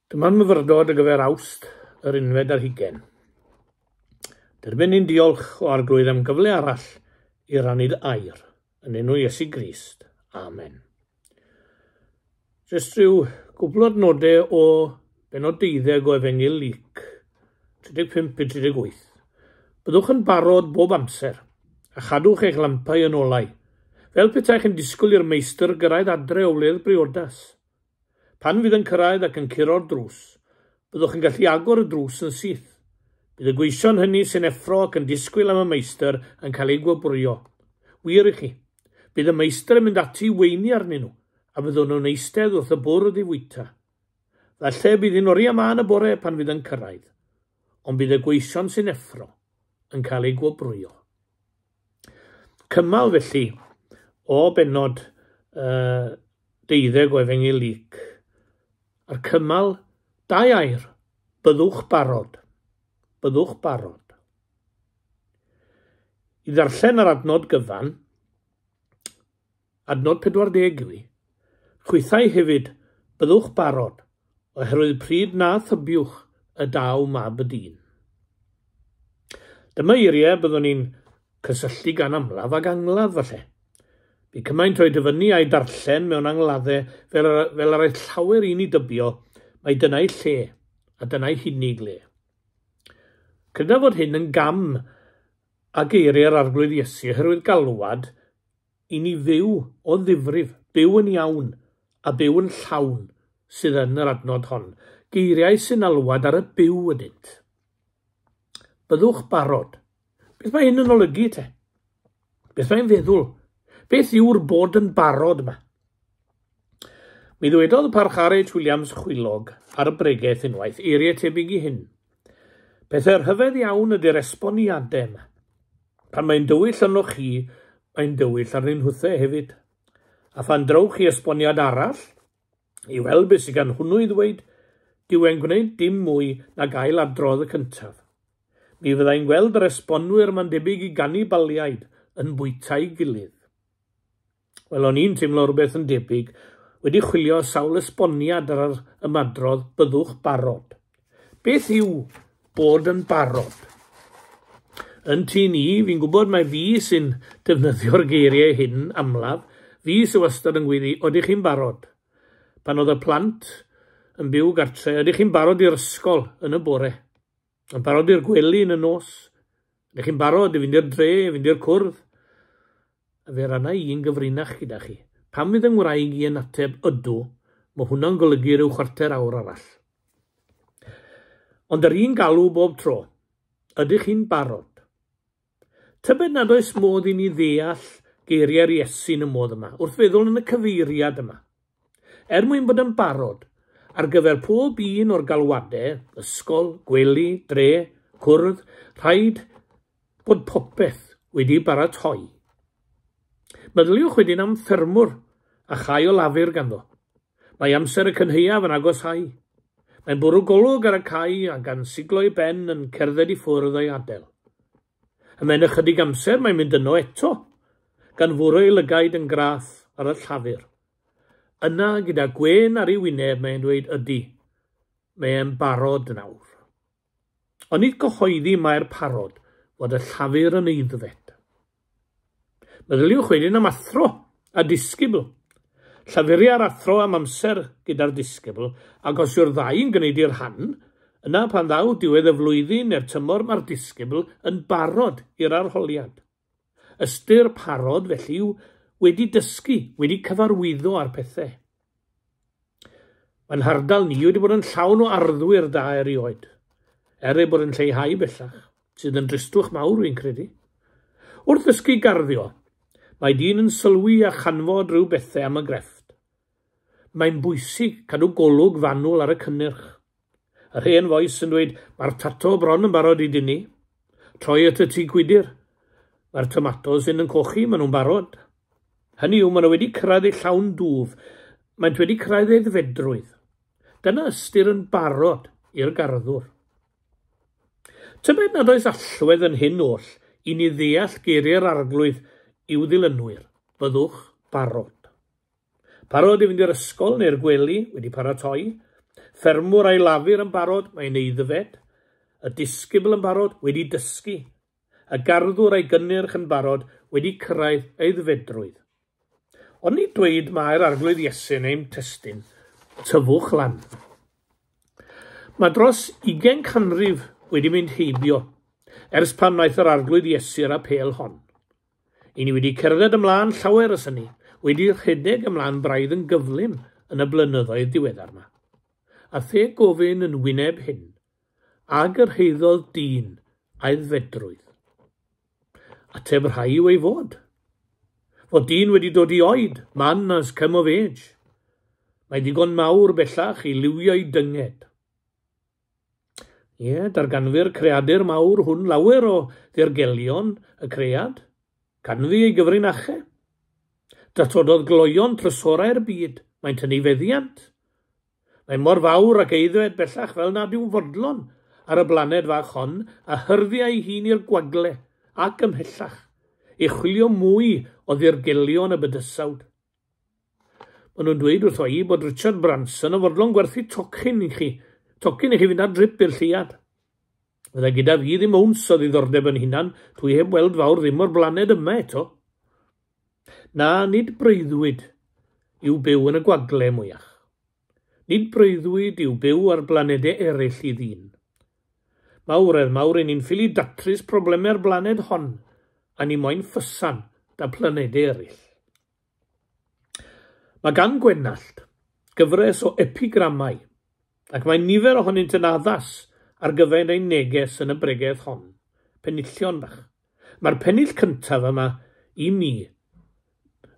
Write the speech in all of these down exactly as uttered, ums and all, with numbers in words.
Dyma'n myfyrdod ar gyfer Awst yr unfed ar hugain. Derbyn ni'n diolch o Arglwydd am gyfle arall i rannu dy air, yn enw Iesu Grist. Amen. Jyst rhyw gwbl o adnodau o bennod deuddeg o Efengyl Luc, tri deg pump i tri deg wyth. Byddwch yn barod bob amser, a chadwch eich lampau yn olau, fel petaech yn disgwyl i'r meistr gyrraedd adre o wledd briodas. Pan fydd yn cyrraedd ac yn curo'r drws, byddwch yn gallu agor y drws yn syth. Bydd y gweision hynny sy'n effro ac yn disgwyl am y meistr yn cael eu gwobrwyo. Wir i chi, bydd y meistr yn mynd ati i weini arnyn nhw, a byddwn nhw'n eistedd wrth y bwrdd i fwyta. Falle bydd hi'n oriau mân y bore pan fydd yn cyrraedd, ond bydd y gweision sy'n effro yn cael eu gwobrwyo. Cymal felly o bennod uh, deuddeg o Efengyl Luc, a'r cymal dau air, byddwch barod, byddwch barod. I ddarllen yr adnod gyfan, adnod pedwar deg yw i, chwithau hefyd, byddwch barod, oherwydd pryd na thybiwch y daw mab y dyn. Dyma eiriau byddwn ni'n cysylltu gan amlaf ag angladd falle. Bu cymaint o'i dyfynnu a'i darllen mewn angladdau fel, fel yr aeth llawer un i dybio, mai dyna'i lle a dyna'i hunig le. Credaf fod hyn yn gam a geiriau'r Arglwydd Iesu oherwydd galwad i ni fyw o ddifrif, byw yn iawn a byw yn llawn sydd yn yr adnod hon. Geiriau sy'n alwad ar y byw ydynt. Byddwch barod. Beth mae hyn yn olygu te? Beth mae'n feddwl? Beth yw'r bod yn barod yma? Mi ddwedodd Parch R H Williams Chwilog ar y bregeth unwaith, eiriau tebyg i hyn. Pethau rhyfedd iawn ydy'r esboniadau yma. Pan mae'n dywyll arnoch chi, mae'n dywyll arnyn nhwthau hefyd. A phan drowch chi esboniad arall, i weld beth sydd gan hwnnw i ddweud, dyw e'n gwneud dim mwy nag ail adrodd y cyntaf. Mi fyddai'n gweld yr esbonwyr ma'n debyg i ganibaliaid yn bwyta'i gilydd. Wel, o'n i'n teimlo rhywbeth yn debyg, wedi chwilio sawl esboniad ar yr ymadrodd byddwch barod. Beth yw bod yn barod? Yn tŷ ni, fi'n gwybod mai fi sy'n defnyddio'r geiriau hyn amlaf, fi sy'n wastad yn gweiddi, odych chi'n barod? Pan oedd y plant yn byw gartre, ydych chi'n barod i'r ysgol yn y bore? Yn barod i'r gwely yn y nos? Ydych chi'n barod i fynd i'r dre, i fynd i'r cwrdd? A fe ranna i un gyfrinach gyda chi. Pan fydd yng ngwraig i yn ateb ydw, mae hwnna'n golygu rhyw chwarter awr arall. Ond yr un galw bob tro, ydych chi'n barod? Tybed nad oes modd i ni ddeall geiriau'r Iesu yn y modd yma, wrth feddwl yn y cyfeiriad yma. Er mwyn bod yn barod, ar gyfer pob un o'r galwadau, ysgol, gwely, dre, cwrdd, rhaid bod popeth wedi baratoi. Meddyliwch wedyn am ffermwr a chai o lafur ganddo. Mae amser y cynhaeaf yn agosáu. Mae'n bwrw golwg ar y cae a gan siglo ei ben yn cerdded i ffwrdd o'i adael. Ymhen ychydig amser mae'n mynd yno eto, gan fwrw ei lygaid yn graff ar y llafur. Yna, gyda gwên ar ei wyneb, mae'n dweud ydy, mae'n barod nawr. Ond nid cyhoeddi mae'r parod fod y llafur yn aeddfed. Meddyliwch wedyn am athro a disgybl. Llafuria'r athro am amser gyda'r disgybl, ac os yw'r ddau yn gwneud i'r rhan, yna pan ddaw diwedd y flwyddyn neu'r tymor mae'r disgybl yn barod i'r arholiad. Ystyr parod felly yw wedi dysgu, wedi cyfarwyddo ar pethau. Mae'n hardal ni wedi bod yn llawn o arddwyr da erioed, er ei bod yn lleihau bellach, sydd yn dristwch mawr fi'n credu. Wrth ddysgu garddio, mae dyn yn sylwi a chanfod rhyw bethau am y grefft. Mae'n bwysig cadw golwg fanwl ar y cynnyrch. Yr hen fois yn dweud, mae'r tato bron yn barod i dynnu. Troi at y tŷ gwydr. Mae'r tomatos yn yn cochi, maen nhw'n barod. Hynny yw, maen nhw wedi cyrraedd eu llawn dwf. Maent wedi cyrraedd eu aeddfedrwydd. Dyna ystyr yn barod i'r garddwr. Tybed nad oes allwedd yn hyn oll i ni ddeall geiriau'r Arglwydd i'w ddilynwyr, byddwch barod. Parod i fynd i'r ysgol neu'r gwely wedi paratoi, Ffermwr a'i lafur yn barod, mae'n aeddfed. Y disgybl yn barod, wedi dysgu. Y garddwr a'i gynnyrch yn barod, wedi cyrraedd aeddfedrwydd. Ond ni dweud mae'r Arglwydd Iesu yn ein testun, tyfwch lan. Mae dros ugain canrif wedi mynd heibio ers pan wnaeth yr Arglwydd Iesu'r apêl hon. I ni wedi cerdded ymlaen llawer ers hynny, wedi rhedeg ymlaen braidd yn gyflym yn y blynyddoedd diweddar yma. A the gofyn yn wyneb hyn, a gyrhaeddodd dyn aeddfedrwydd. Ateb rhai yw ei fod. Fod dyn wedi dod i oed, man has come of age. Mae digon mawr bellach i liwio'i dynged. Ie, darganfu'r creadur mawr hwn lawer o ddirgelion y cread, canfu ei gyfrinachau. Datododd gloion trysorau'r byd, mae'n tynnu feddiant. Mae mor fawr ac aeddfed bellach fel nad yw'n fodlon ar y blaned fach hon a hyrddia ei hun i'r gwagle ac ymhellach, i chwilio mwy o ddirgelion y bydysawd. Maen nhw'n dweud wrtho i bod Richard Branson yn fodlon gwerthu tocyn i chi, tocyn i chi fynd ar drip i'r lleuad. Fydda gyda fi ddim owns o ddiddordeb yn hunan, dwi heb weld fawr ddim o'r blaned yma eto. Na, nid breuddwyd yw byw yn y gwagle mwyach. Nid breuddwyd yw byw ar blanedau eraill i ddyn. Mawredd mawr i ni'n ffili datrys problemau'r blaned hon, a ni moyn ffysan da planedau eraill. Mae gan Gwenallt gyfres o epigramau, ac mae nifer ohonynt yn addas ar gyfer ein neges yn y bregeth hon. Penillion bach. Mae'r pennill cyntaf yma i mi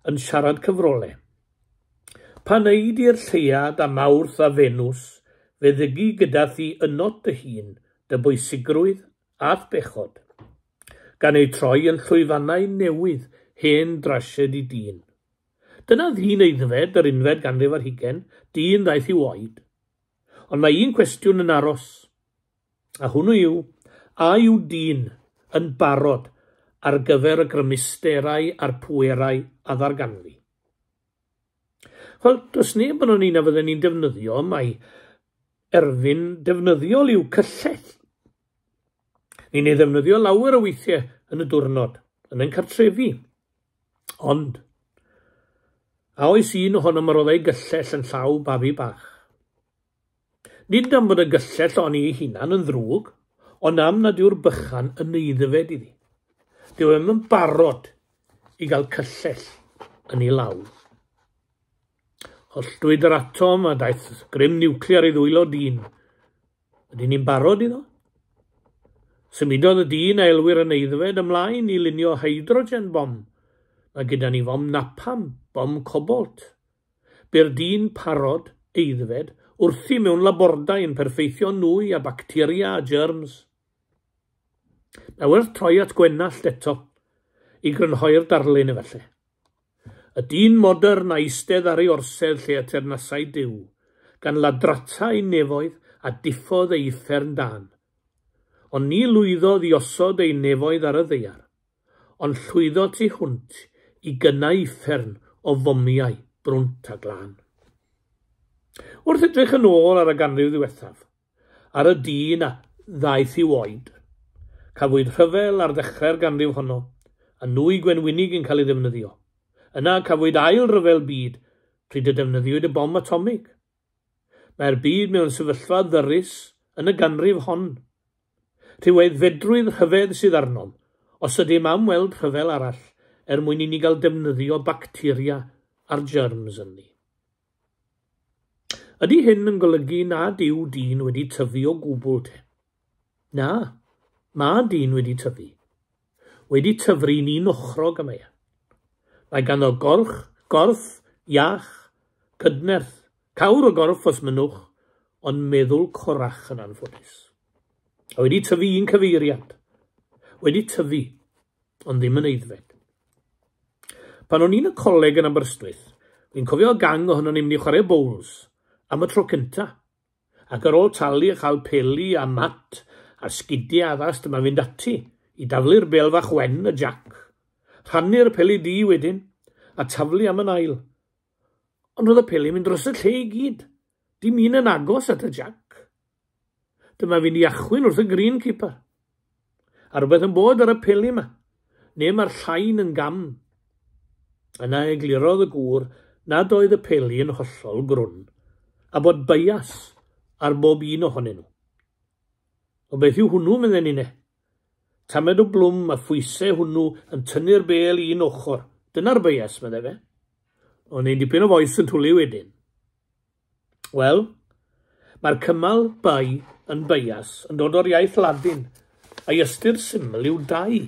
yn siarad cyfrolau. Pan eid i'r lleuad a Mawrth a Fenws, fe ddygi gyda thi ynot dy hun, dy bwysigrwydd a'th bechod, gan eu troi yn llwyfannau newydd hen drasiedi dyn. Dyna ddyn aeddfed yr unfed ganrif ar hugain, dyn ddaeth i'w oed. Ond mae un cwestiwn yn aros, a hwnnw yw, a yw dyn yn barod ar gyfer y grymusterau a'r pwerau a ddarganfu? Wel, does neb yn o'n un a fydden ni'n defnyddio, mae erfyn defnyddiol yw cyllell. Ni'n ei ddefnyddio lawer o weithiau yn y diwrnod, yn ein cartrefi. Ond, a oes un ohonom yr oedd ei gyllell yn llaw babi bach? Nid am fod y gyllell o'n ei hunan yn ddrwg, ond am nad yw'r bychan yn aeddfed iddi. Dyw e'm yn barod i gael cyllell yn ei law. Holltwyd yr atom a daeth grym niwclear i ddwylo dyn. Ydyn ni'n barod iddo? Symudodd y dyn a elwir yn aeddfed ymlaen i lunio hydrogen bom. Mae gyda ni fom napalm, bom cobalt. Bu'r dyn parod, aeddfed, wrthi mewn labordai yn perffeithio nwy a bacteria a germs. Mae werth troi at Gwenallt eto, i grynhoi'r darlun efallai. Y dyn modern a eistedd ar ei orsedd lle y teyrnasai Duw, gan ladrata ei nefoedd a diffodd ei uffern dân. Ond ni lwyddodd i osod ei nefoedd ar y ddaear, ond llwyddo tu hwnt i gynnau uffern o fomiau brwnt a glân. Wrth edrych yn ôl ar y ganrif ddiwethaf, ar y dyn a ddaeth i'w oed, cafwyd rhyfel ar ddechrau'r ganrif honno, a nwy gwenwynig yn cael ei ddefnyddio. Yna cafwyd ail ryfel byd pryd y defnyddiwyd y bom atomig. Mae'r byd mewn sefyllfa ddyrus yn y ganrif hon. Rhyw aeddfedrwydd rhyfedd sydd arnom, os ydym am weld rhyfel arall er mwyn i ni gael defnyddio bacteria a'r germs ynddi. Ydy hyn yn golygu nad yw dyn wedi tyfu o gwbl te? Na, mae dyn wedi tyfu. Wedi tyfu'n un ochrog yma. Mae ganddo gorch, gorff, iach, cydnerth, cawr o gorff os mynnwch, ond meddwl corach yn anffodus. A wedi tyfu un cyfeiriad. Wedi tyfu, ond ddim yn aeddfed. Pan o'n i'n y coleg yn Aberystwyth, fi'n cofio gang ohonon ni'n mynd i chwarae bowls am y tro cynta. Ac ar ôl talu a chael peli a mat a sgidiau addas, dyma fynd ati i daflu'r bêl fach wen y jac. Rhannu'r peli du wedyn a taflu am yn ail. Ond oedd y peli mynd dros y lle i gyd. Dim un yn agos at y jac. Dyma fi'n i achwyn wrth y greenkeeper. A rhywbeth yn bod ar y peli yma, neu mae'r llain yn gam. Yna eglurodd y gŵr nad oedd y peli yn hollol grwn, a bod bias ar bob un ohonyn nhw. O beth yw hwnnw, medden ni ne? Tamed o blwm a phwysau hwnnw yn tynnu'r bêl i un ochr. Dyna'r bias, medde fe. O'n i'n dipyn o fois yn twlu wedyn. Wel, mae'r cymal bi yn bias yn dod o'r iaith Ladin, a'i ystyr syml yw dau.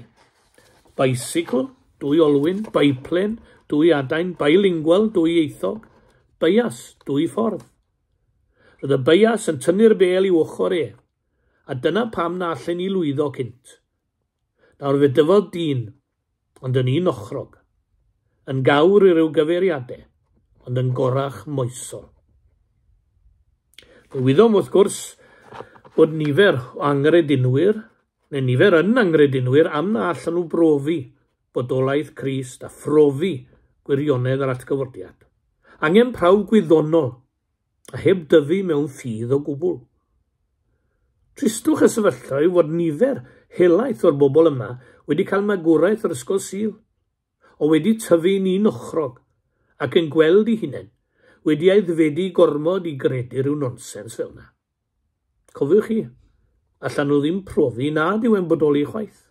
Bicycle, dwy olwyn, biplane, dwy adain, bilingual, dwy ieithog, bias, dwy ffordd. Roedd y bias yn tynnu'r bêl i'w ochr e, a dyna pam na allen ni lwyddo cynt. Nawr fe dyfodd dyn, ond yn un ochrog, yn gawr i ryw gyfeiriadau, ond yn gorach moesol. Fe wyddom wrth gwrs bod nifer o angredinwyr, neu nifer yn angredinwyr, am na allan nhw brofi bodolaeth Crist a phrofi gwirionedd yr atgyfodiad. Angen prawf gwyddonol, a heb dyfu mewn ffydd o gwbl. Tristwch y sefyllfa yw fod nifer helaeth o'r bobl yma wedi cael magwraeth yr ysgol Sul, o wedi tyfu'n un ochrog ac yn gweld eu hunain wedi aeddfedu gormod i gredu rhyw nonsens fel yna. Cofiwch chi, allan nhw ddim profi nad yw e'n bodoli chwaith.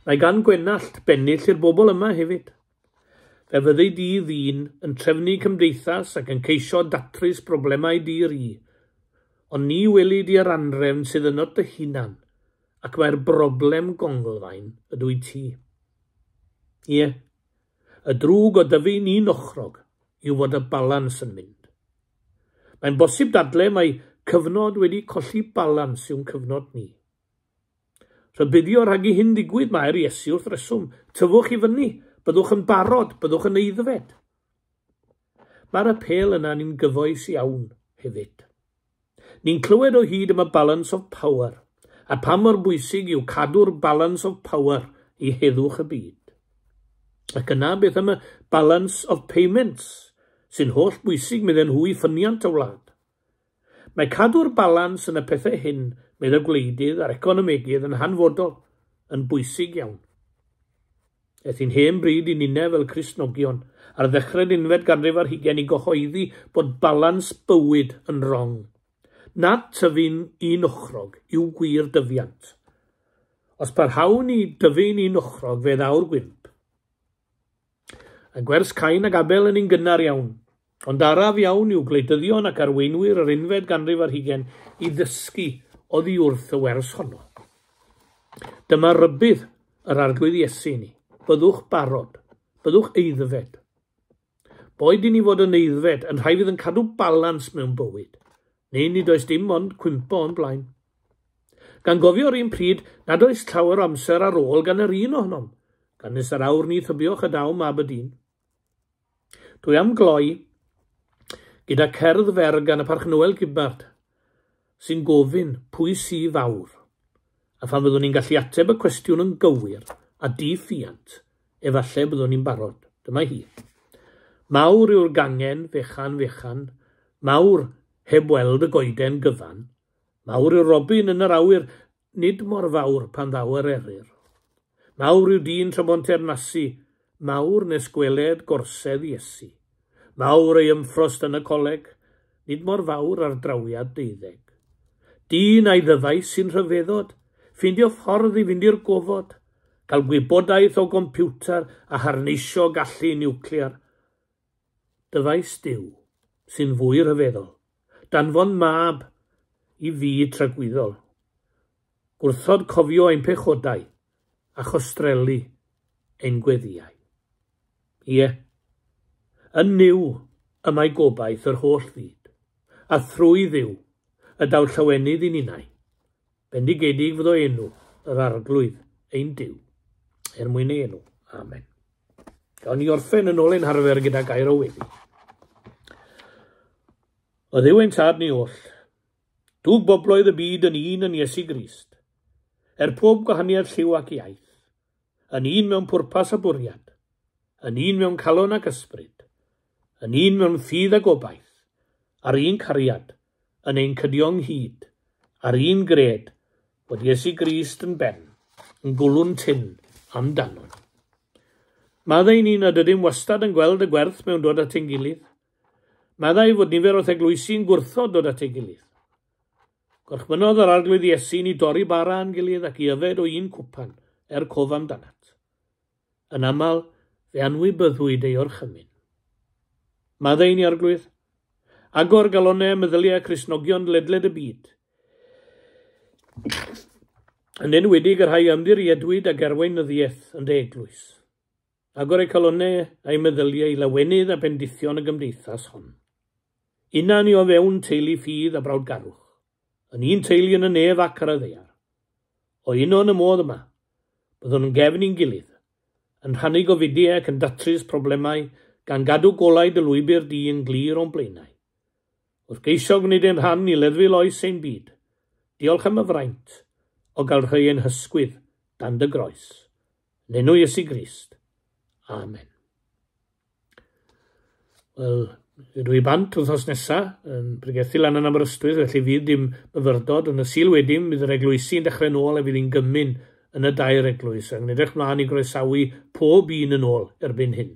Mae gan Gwenallt bennill i'r bobl yma hefyd. Fe fyddi di ddyn yn trefnu cymdeithas ac yn ceisio datrys problemau di-ri, ond ni weli di yr anrefn sydd ynot dy hunan, ac mae'r broblem gonglfaen ydw i ti. Ie, y drwg o dyfu'n un ochrog yw fod y balans yn mynd. Mae'n bosib dadle mae cyfnod wedi colli balans yw'n cyfnod ni. Rhybuddio rhag i hyn ddigwydd mae'r Iesu wrth reswm. Tyfwch i fyny, byddwch yn barod, byddwch yn aeddfed. Mae'r apêl yna ni'n gyfoes iawn hefyd. Ni'n clywed o hyd am y balance of power, a pa mor bwysig yw cadw'r balance of power i heddwch y byd. Ac yna beth am y balance of payments, sy'n holl bwysig medden nhw i ffyniant y wlad. Mae cadw'r balans yn y pethau hyn, medd y gwleidydd a'r economegydd yn hanfodol, yn bwysig iawn. Aeth hi'n hen bryd i ninne fel Cristnogion ar ddechrau'r unfed ganrif ar hugain i gyhoeddi bod balans bywyd yn wrong. Nad tyfu'n un ochrog yw gwir dyfiant. Os parhawn i dyfu'n un ochrog, fe ddaw'r gwymp. A gwers Cain ac Abel yn un gynnar iawn, ond araf iawn yw gwleidyddion ac arweinwyr yr unfed ganrif ar hugain i ddysgu oddi wrth y wers honno. Dyma rybudd yr Arglwydd Iesu i ni. Byddwch barod, byddwch aeddfed. Boed i ni fod yn aeddfed, yn rhai fydd yn cadw balans mewn bywyd, neu nid oes dim ond cwympo o'n blaen. Gan gofio'r un pryd nad oes llawer o amser ar ôl gan yr un ohonom, gan nes yr awr ni thybiwch y daw mab y dyn. Dwi am gloi gyda cerdd fer gan y Parch Noel Gibbard, sy'n gofyn pwy sy fawr, a phan fyddwn ni'n gallu ateb y cwestiwn yn gywir a di-ffiant, efallai byddwn ni'n barod. Dyma hi. Mawr yw'r gangen fechan fechan, mawr heb weld y goeden gyfan, mawr yw'r robin yn yr awyr, nid mor fawr pan ddaw yr eryr. Mawr yw dyn tra bo'n teyrnasu, mawr nes gweled gorsedd Iesu. Mawr ei ymffrost yn y coleg, nid mor fawr ar drawiad deuddeg. Dyn a'i ddyfais sy'n rhyfeddod, ffeindio ffordd i fynd i'r gofod, cael gwybodaeth o gompiwter a harneisio gallu niwclear. Dyfais Duw sy'n fwy rhyfeddol, danfon mab i fyd tragwyddol. Gwrthod cofio ein pechodau a chostrelu ein gweddïau. Ie, yn Nuw y mae gobaith yr holl fyd, a thrwy Dduw y daw llawenydd i ninnau. Bendigedig fyddo enw yr Arglwydd ein Duw, er mwyn ei enw. Amen. Gawn ni orffen yn ôl ein harfer gyda gair o weddi. O Dduw ein tad ni oll, dwg bobloedd y byd yn un yn Iesu Grist, er pob gwahaniaeth lliw ac iaith, yn un mewn pwrpas a bwriad, yn un mewn calon ac ysbryd, yn un mewn ffydd a gobaith, a'r un cariad, yn ein cydio ynghyd, a'r un gred, bod Iesu Grist yn ben, yn gwlwn tyn amdanon. Maddau ni nad ydym wastad yn gweld y gwerth mewn dod at ein gilydd. Maddau fod nifer o'th eglwysi'n gwrthod dod at ei gilydd. Gorchmynnodd yr Arglwydd Iesu ni dorri bara â'n gilydd ac i yfed o un cwpan er cof amdanat. Yn aml, fe anwybyddwyd ei orchymyn. Maddau ni, Arglwydd. Agor galonau meddyliau Cristnogion ledled y byd. Yn enwedig y rhai ymddiriedwyd ag arweinyddiaeth yn dy eglwys. Agor eu calonau a'u meddyliau i lawenydd a bendithion y gymdeithas hon. Una ni o fewn teulu ffydd a brawdgarwch, yn un teulu yn y nef ac ar y ddaear. O uno yn y modd yma, byddwn yn gefn i'n gilydd, yn rhannu gofidiau ac yn datrys problemau gan gadw golau dy lwybr di yn glir o'n blaenau. Wrth geisio gwneud ein rhan i leddfu loes ein byd, diolch am y fraint o gael rhoi ein hysgwydd dan dy groes. Yn enw Iesu Grist. Amen. Wel, dwi bant wythnos nesaf yn pregethu lan yn Aberystwyth, felly fydd dim myfyrdod. Yn y Sul wedyn, bydd yr eglwysi yn dechrau nôl a fydd hi'n gymun yn y dair eglwys. Ac yn edrych mlaen i groesawu pob un yn ôl erbyn hyn.